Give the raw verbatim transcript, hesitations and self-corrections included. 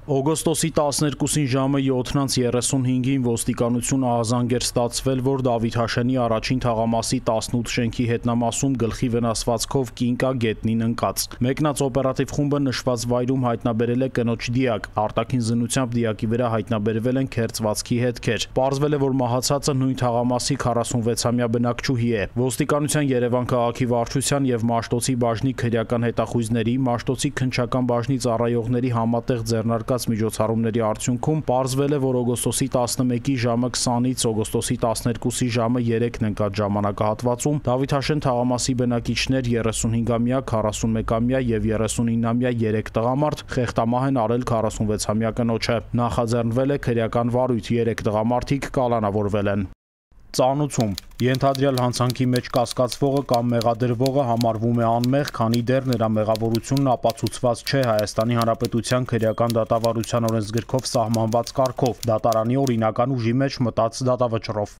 Օգոստոսի տասներկուսին ժամը յոթ երեսունհինգին ոստիկանությունը ահազանգ էր ստացվել, որ Դավիթ Հաշենի առաջին թաղամասի տասնութ շենքի հետնամասում գլխի վնասվածքով կին կա գետնին ընկած։ Մեկնած օպերատիվ խումբը նշված վայրում հայտնաբերել է կնոջ դիակ, արտաքին զննությամբ դիակի վրա հայտնաբերվել են քերծվածքի հետքեր։ Պարզվել է, որ մահացածը նույն թաղամասի քառասունվեցամյա բնակչուհի է։ Ոստիկանության Երևան քաղաքի վարչության եւ Մաշտոցի բաժնի քրեական հետախույզների, Մաշտոցի քննչական բաժնի ծառայողների համատեղ ձեռնարկած միջոցառումների արդյունքում պարզվել է, որ օգոստոսի տասնմեկի ժամը քսանից օգոստոսի տասներկուսի ժամը երեքն ընկած ժամանակահատվածում Դավիթ Հաշեն թաղամասի բնակիչներ երեսունհինգամյա, քառասունմեկամյա եւ երեսունինամյա երեք տղամարդ խեղտամահ են արել քառասունվեցամյա կնոջը։ Նախաձեռնվել է քրեական վարույթ, երեք տղամարդիկ կալանավորվել են։ Ծանուցում ենթադրյալ հանցանքի մեջ կասկածվողը կամ մեղադրվողը համարվում է անմեղ, քանի դեռ նրա մեղավորությունն ապացուցված չէ Հայաստանի Հանրապետության քրեական դատավարության օրենսգրքով սահմանված կարգով, դատարանի օրինական ուժի մեջ մտած դատավճռով։